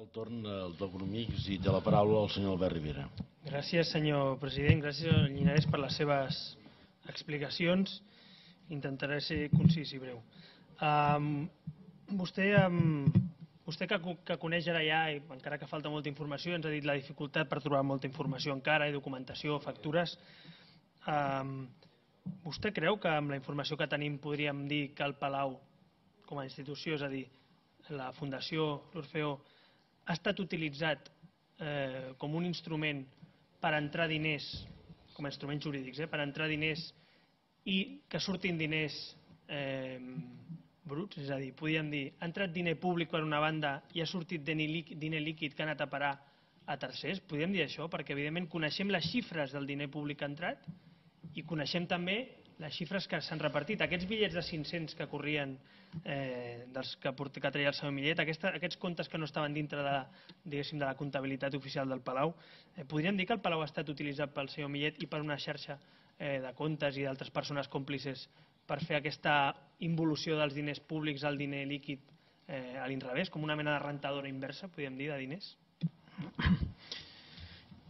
el torn al Tocnomics i té la paraula el senyor Albert Rivera. Gràcies, senyor president. Gràcies, senyor Llinàres, per les seves explicacions. Intentaré ser concís i breu. Vostè que coneix ara ja, i encara que falta molta informació, ens ha dit la dificultat per trobar molta informació encara, i documentació, factures. Vostè creu que amb la informació que tenim podríem dir que el Palau, com a institució, és a dir, la Fundació l'Orfeó, ha estat utilitzat com un instrument per entrar diners, com a instruments jurídics, per entrar diners i que surtin diners bruts? És a dir, podríem dir, ha entrat diner públic per una banda i ha sortit diner líquid que ha anat a parar a tercers? Podríem dir això? Perquè, evidentment, coneixem les xifres del diner públic que ha entrat i coneixem també les xifres que s'han repartit. Aquests bitllets de 500 que corrien, dels que traia el senyor Millet, aquests comptes que no estaven dintre de la comptabilitat oficial del Palau, podríem dir que el Palau ha estat utilitzat pel senyor Millet i per una xarxa de comptes i d'altres persones còmplices per fer aquesta involució dels diners públics al diner líquid a l'inrevés, com una mena de rentadora inversa, podríem dir, de diners?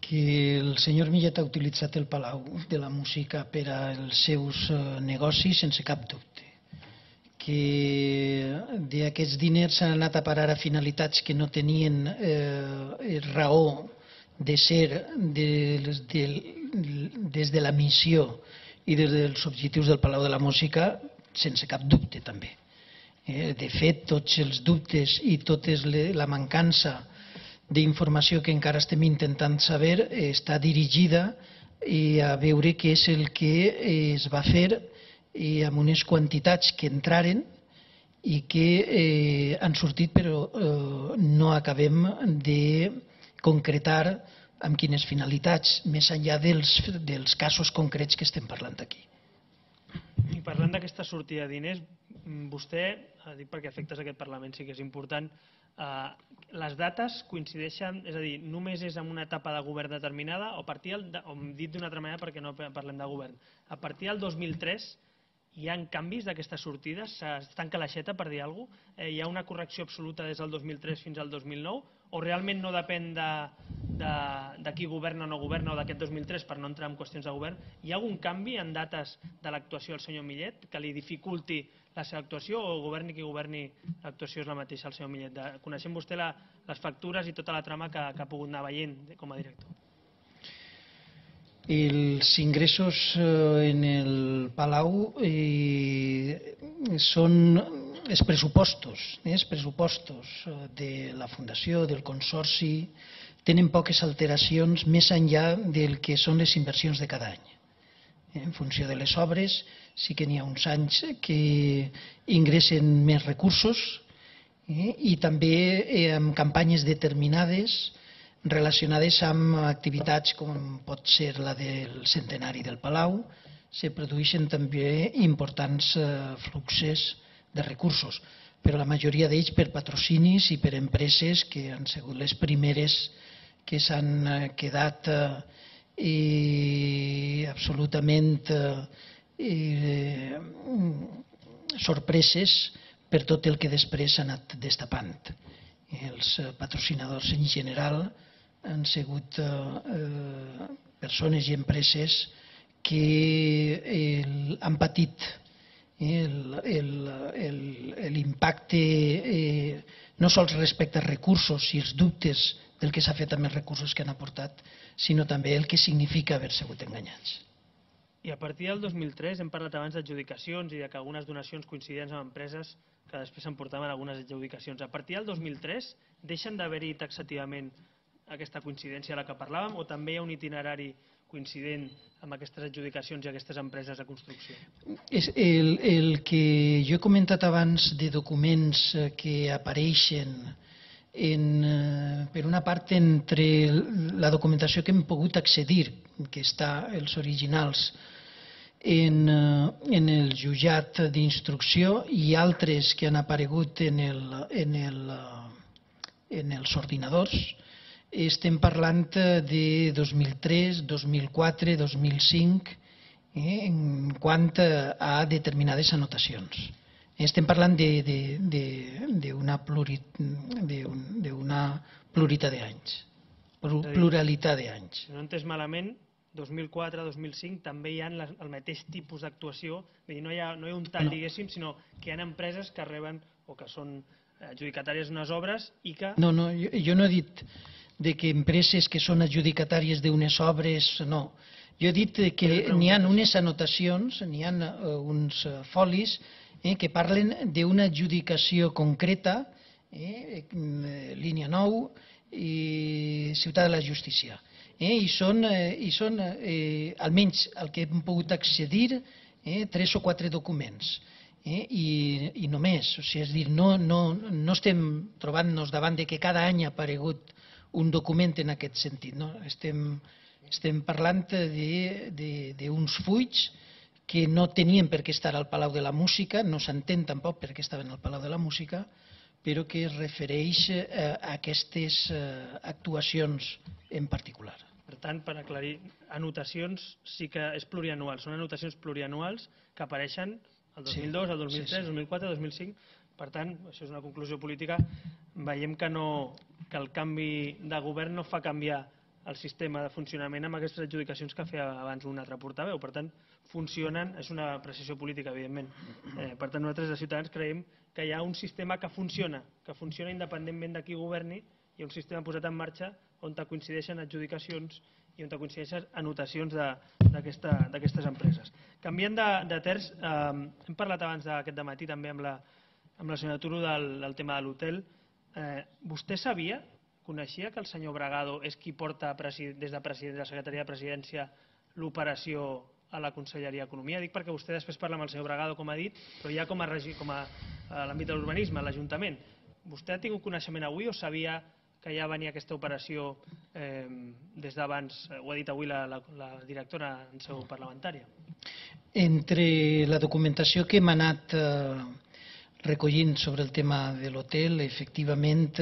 Que el senyor Millet ha utilitzat el Palau de la Música per als seus negocis sense cap dubte. Que d'aquests diners s'han anat a parar a finalitats que no tenien raó de ser des de la missió i des dels objectius del Palau de la Música, sense cap dubte també. De fet, tots els dubtes i tota la mancança d'informació que encara estem intentant saber està dirigida a veure què és el que es va fer amb unes quantitats que entraren i que han sortit, però no acabem de concretar amb quines finalitats, més enllà dels casos concrets que estem parlant aquí. I parlant d'aquesta sortida de diners, vostè, dic perquè efectes d'aquest Parlament sí que és important, les dates coincideixen, és a dir, només és en una etapa de govern determinada o dit d'una altra manera perquè no parlem de govern, a partir del 2003 hi ha canvis d'aquestes sortides? Es tanca l'aixeta, per dir alguna cosa? Hi ha una correcció absoluta des del 2003 fins al 2009? O realment no depèn de qui governa o no governa o d'aquest 2003, per no entrar en qüestions de govern? Hi ha algun canvi en dates de l'actuació del senyor Millet que li dificulti la seva actuació, o governi qui governi l'actuació és la mateixa del senyor Millet? Coneixem vostè les factures i tota la trama que ha pogut anar veient com a director? Els ingressos en el Palau són els pressupostos de la Fundació, del Consorci, tenen poques alteracions més enllà del que són les inversions de cada any. En funció de les obres, sí que n'hi ha uns anys que ingressen més recursos i també amb campanyes determinades relacionades amb activitats com pot ser la del centenari del Palau, se produeixen també importants fluxos de recursos, però la majoria d'ells per patrocinis i per empreses que han sigut les primeres que s'han quedat absolutament sorpreses per tot el que després s'ha anat destapant. Els patrocinadors en general han sigut persones i empreses que han patit l'impacte no sols respecte als recursos i els dubtes del que s'ha fet amb els recursos que han aportat, sinó també el que significa haver sigut enganyats. I a partir del 2003 hem parlat abans d'adjudicacions i que algunes donacions coincidents amb empreses que després s'emportaven algunes adjudicacions. A partir del 2003 deixen d'haver-hi taxativament aquesta coincidència a la que parlàvem, o també hi ha un itinerari coincident amb aquestes adjudicacions i aquestes empreses de construcció? El que jo he comentat abans de documents que apareixen per una part entre la documentació que hem pogut accedir, que està els originals en el jutjat d'instrucció, i altres que han aparegut en els ordinadors, estem parlant de 2003, 2004, 2005 en quant a determinades anotacions. Estem parlant d'una pluralitat d'anys. Si no he entès malament, 2004-2005 també hi ha el mateix tipus d'actuació, no hi ha un tall, diguéssim, sinó que hi ha empreses que reben o que són adjudicatàries d'unes obres i que... No, jo no he dit que empreses que són adjudicatàries d'unes obres, no. Jo he dit que n'hi ha unes anotacions, n'hi ha uns folis que parlen d'una adjudicació concreta, línia 9 i Ciutat de la Justícia. I són, almenys el que hem pogut accedir, 3 o 4 documents. I només, és a dir, no estem trobant-nos davant de que cada any ha aparegut un document en aquest sentit. Estem parlant d'uns fulls que no tenien per què estar al Palau de la Música, no s'entén tampoc per què estaven al Palau de la Música, però que es refereix a aquestes actuacions en particular. Per tant, per aclarir, anotacions sí que és plurianual, són anotacions plurianuals que apareixen el 2002, el 2003, el 2004, el 2005. Per tant, això és una conclusió política. Veiem que el canvi de govern no fa canviar el sistema de funcionament amb aquestes adjudicacions que feia abans un altre portaveu. Per tant, funcionen, és una apreciació política, evidentment. Per tant, nosaltres de Ciutadans creiem que hi ha un sistema que funciona independentment de qui governi, hi ha un sistema posat en marxa on coincideixen adjudicacions i on coincideixen anotacions d'aquestes empreses. Canviant de terç, hem parlat abans d'aquest dematí també amb la senyora Turo del tema de l'hotel. Vostè sabia, coneixia que el senyor Bragado és qui porta des de la Secretaria de Presidència l'operació a la Conselleria d'Economia? Dic perquè vostè després parla amb el senyor Bragado, com ha dit, però ja com a l'àmbit de l'urbanisme, a l'Ajuntament. Vostè ha tingut coneixement avui o sabia que ja venia aquesta operació des d'abans? Ho ha dit avui la directora en seu parlamentària. Entre la documentació que hem anat recollint sobre el tema de l'hotel, efectivament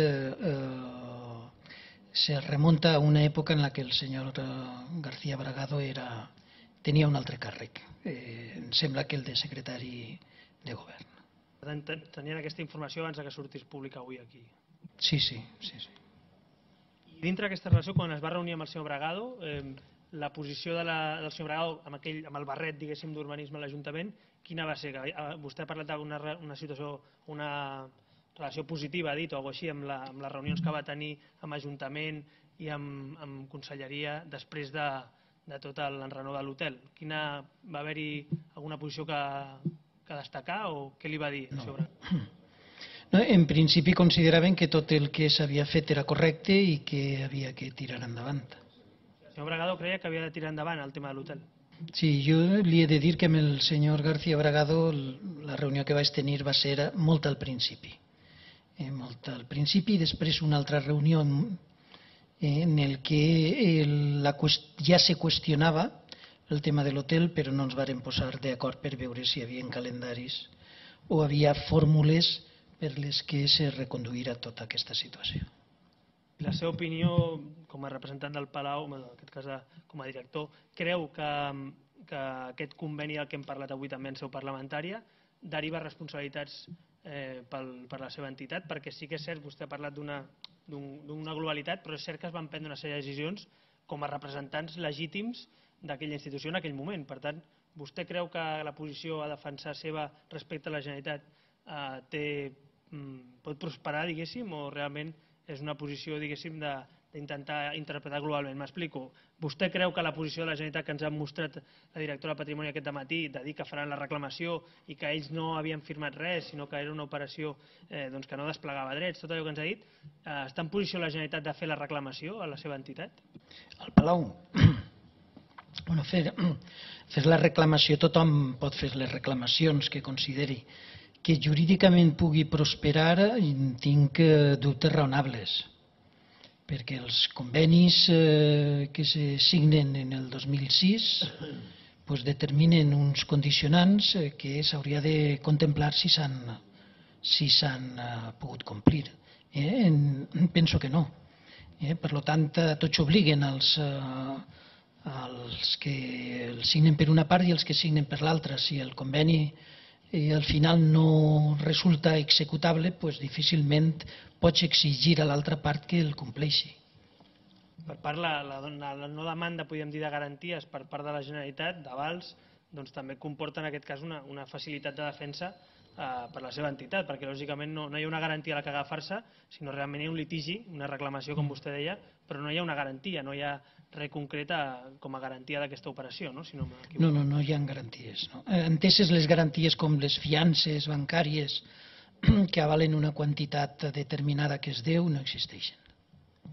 se remunta a una època en la que el senyor García Bragado tenia un altre càrrec. Em sembla que el de secretari de govern. Per tant, tenien aquesta informació abans que sortís pública avui aquí. Sí. I dintre d'aquesta relació, quan es va reunir amb el senyor Bragado, la posició del senyor Bragado amb el barret, diguéssim, d'urbanisme a l'Ajuntament, quina va ser? Vostè ha parlat d'una situació, una relació positiva, ha dit, o alguna cosa així, amb les reunions que va tenir amb Ajuntament i amb Conselleria després de tot l'enrenou de l'hotel. Va haver-hi alguna posició que destacar o què li va dir sobre? En principi consideraven que tot el que s'havia fet era correcte i que havia que tirar endavant. El senyor Bragado creia que havia de tirar endavant el tema de l'hotel. Sí, jo li he de dir que amb el senyor García Bragado la reunió que vaig tenir va ser molt al principi. Molt al principi i després una altra reunió en el que ja se qüestionava el tema de l'hotel, però no ens vàrem posar d'acord per veure si hi havia calendaris o havia fórmules per les que se reconduïra tota aquesta situació. La seva opinió com a representant del Palau, en aquest cas com a director, creu que aquest conveni del que hem parlat avui també en seu parlamentària deriva responsabilitats per la seva entitat? Perquè sí que és cert, vostè ha parlat d'una globalitat, però és cert que es van prendre una sèrie de decisions com a representants legítims d'aquella institució en aquell moment. Per tant, vostè creu que la posició a defensar seva respecte a la Generalitat pot prosperar, diguéssim, o realment és una posició, diguéssim, d'intentar interpretar globalment? M'explico. Vostè creu que la posició de la Generalitat que ens ha mostrat la directora de Patrimoni aquest dematí, de dir que faran la reclamació i que ells no havien firmat res, sinó que era una operació que no desplegava drets, tot allò que ens ha dit, està en posició la Generalitat de fer la reclamació a la seva entitat? Al Palau? Bueno, fer la reclamació, tothom pot fer les reclamacions que consideri. Que jurídicament pugui prosperar, tinc dubtes raonables, perquè els convenis que se signen en el 2006 determinen uns condicionants que s'hauria de contemplar si s'han pogut complir. Penso que no. Per tant, tots obliguen els que el signen per una part i els que signen per l'altra. Si el conveni al final no resulta executable, doncs difícilment pots exigir a l'altra part que el compleixi. Per part, la no demanda, podríem dir, de garanties per part de la Generalitat, d'avals, doncs també comporta en aquest cas una facilitat de defensa per la seva entitat, perquè lògicament no hi ha una garantia a la que agafar-se, sinó realment hi ha un litigi, una reclamació, com vostè deia, però no hi ha una garantia, no hi ha res concret com a garantia d'aquesta operació, no? Si no m'equivoco. No hi ha garanties. No. Enteses les garanties com les fiances bancàries que avalen una quantitat determinada que es deu, no existeixen.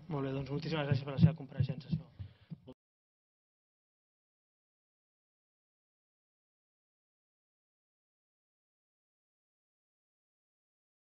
Molt bé, doncs moltíssimes gràcies per la seva compareixença.